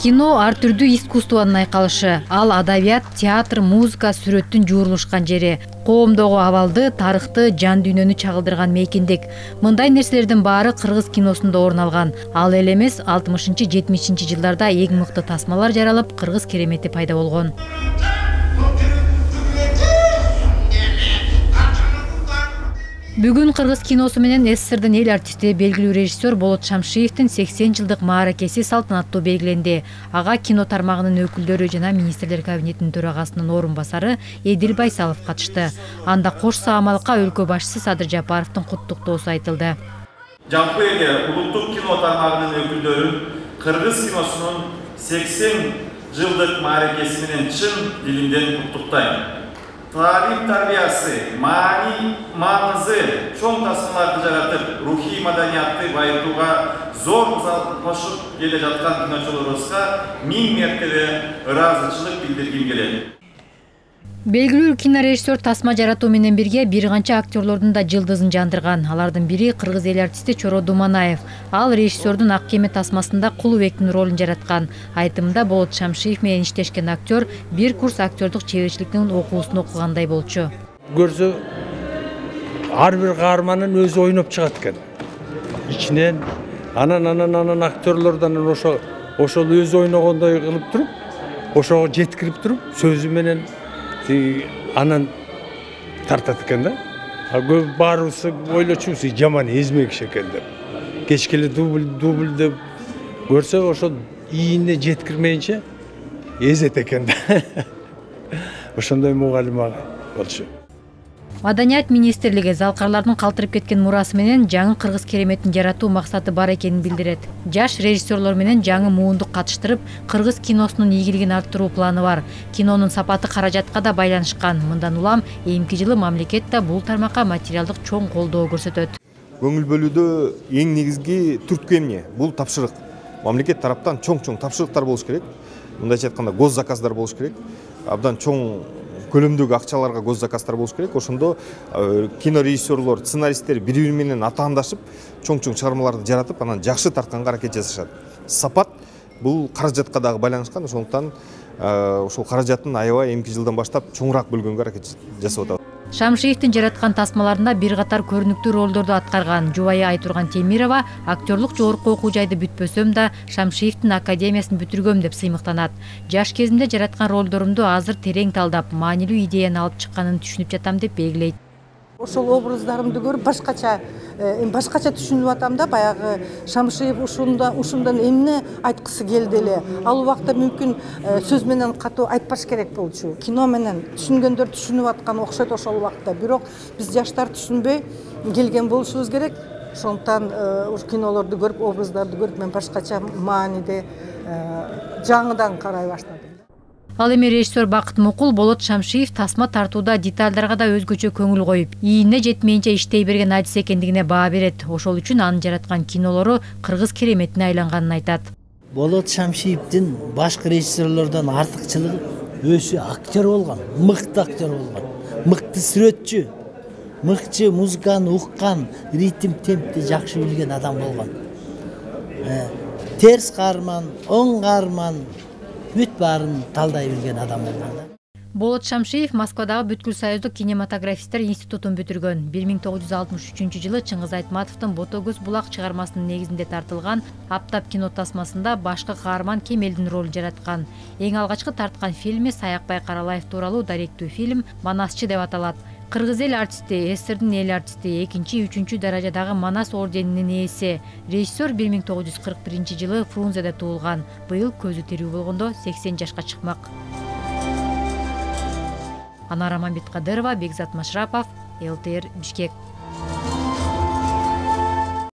Кино ар түрдүү искусствонун айкалышы. Ал адабият, театр, музыка, сүрөттүн жуурулушкан жери. Коомдогу абалды, тарыхты, жан дүйнөнү чагылдырган мейкиндик. Мындай нерселердин баары кыргыз киносунда орун алган. Ал эле эмес, 60-70 жылдарда эң мыкты тасмалар жаралып, кыргыз керемети пайда болгон. Бүгүн кыргыз киносу менен СССРдин эл артисти, белгилүү режиссер Болот Шамшиевдин 80 жылдык мааракеси салтанаттуу белгиленди. Ага кино тармагынын өкүлдөрү жана министрлер кабинетинин төрагасынын орун басары Эдил Байсалов катышты. Анда кош саамалыкка өлкө башчысы Садыр Жапаровдун куттуктоосу айтылды. Жалпы эле улуттук кино тармагынын өкүлдөрүн кыргыз киносунун 80 жылдык мааракеси менен чын дилимден куттуктайм. Тарих тарбиясы, маңызы чоң тасмаларды жаратып, рухий маданиятты байытууга зор залал кошуп келе жаткан киночуларыбызга 1000 мертебе ыраазычылык билдиргим келет. Белгилүү кинорежиссер тасма жаратуу менен бирге бир канча актерлордун да жылдызын жандырган. Алардын бири кыргыз эл артисти Чоро Думанаев. Ал режиссердун Ак кеме тасмасында Кулубектин ролун жараткан. Айтымында Болот Шамшиев менен иштешкен актер бир курс актерлук чеберчиликтин окуусун окугандай болчу. Көрсө, ар бир каарманын өзү ойноп чыгат экен. Ичинен анан актерлордон ошол өзү ойногондой кылып туруп, ошого жеткирип туруп, сөзү менен анан тартат экен да. Баарыбыз ойлочубуз, жаман эзме киши экен деп. Кечкеле дубль деп көрсө, ошол ийине жеткирмейинче эзет экен да. Ошондой мугалим болчу. Маданият министрлиги залкарлардын калтырып кеткен мурасы менен жаңы кыргыз кереметин жаратуу максаты бар экенин билдирет. Жаш режиссерлор менен жаңы муундук катыштырып, кыргыз киносунун ийгилигин арттыруу планы бар. Кинонун сапаты каражатка да байланышкан. Мындан улам эмки жылы мамлекет да бул тармакка материалдык чоң колдоо көрсөтөт. Көңүл бөлүүдө эң негизги түрткү эмне? Бул тапшырык. Мамлекет тараптан чоң тапшырыктар болуш керек. Мындайча айтканда госзаказдар болуш керек. Абдан чоң көлөмдөгү акчаларга госзаказдар болуш керек. Ошондо кинорежиссерлор, сценаристтер бири-бири менен атаандашып, чоң чыгармаларды жаратып, анан жакшы тартканга аракет жасашат. Сапат бул каражатка дагы байланышкан. Ошондуктан ошол каражатын аябай эмки жылдан баштап чоңураак бөлгөнгө аракет жасап атабыз. Шамшиевдин жараткан тасмаларында бир катар көрүнүктүү ролдорду аткарган. Жубайы Айтурган Темирова актерлук жогорку окуу жайды бүтпөсөм да Шамшиевдин академиясын бүтүргөм деп сыймыктанат. Жаш кезимде жараткан ролдорумду азыр терең талдап, маанилүү идеяны алып чыкканын түшүнүп жатам деп белгилейт. Ошол образдарымды көрүп башкача түшүнүп атам да, баягы Шамшиев ушундан эмне айткысы келди эле. Ал убакта мүмкүн сөз менен катуу айтпаш керек болчу. Кино менен түшүнгөндөр түшүнүп аткан окшойт ошол убакта. Бирок биз жаштар түшүнбөй келген болушубуз керек. Ошондуктан кинолорду көрүп, образдарды көрүп мен башкача мааниде жаңыдан карай баштадым. Ал эми режиссер Бакыт Мукул Болот Шамшиев тасма тартууда детальдарга да өзгөчө көңүл коюп, ийине жетмейинче иштей берген адис экендигине баа берет. Ошол үчүн анын жараткан кинолору кыргыз кереметине айланганын айтат. Болот Шамшиевдин башка режиссерлордон артыкчылыгы өзү актер болгон, мыкты актер болгон, мыкты сүрөтчү, мыкты музыканы уккан, ритм темпти жакшы билген адам болгон. Терс каарман, оң каарман бүт баарын талдай билген адам болгон. Болот Шамшиев Москвадагы Бүткүл Союздук кинематографисттер институтун бүтүргөн. 1963 Чыңгыз Айтматовдун Ботогөз булак чыгармасынын негизинде тартылган Аптап кино тасмасында башкы каарман Кемелдин ролун жараткан. Эң алгачкы тарткан фильми Саякбай Каралаев тууралуу даректүү фильм «Манасчы» деп аталат. Кыргыз эл артисти, СССРдин эл артисти, 2-3 даражадагы Манас орденинин ээси. Режиссер 1941 жылы Фрунзеде туулган. Быйыл көзү тирүү болгондо 80 жашка чыкмак. Анара Мамбеткадырова, Бекзат Машрапов, ЛТР, Бишкек.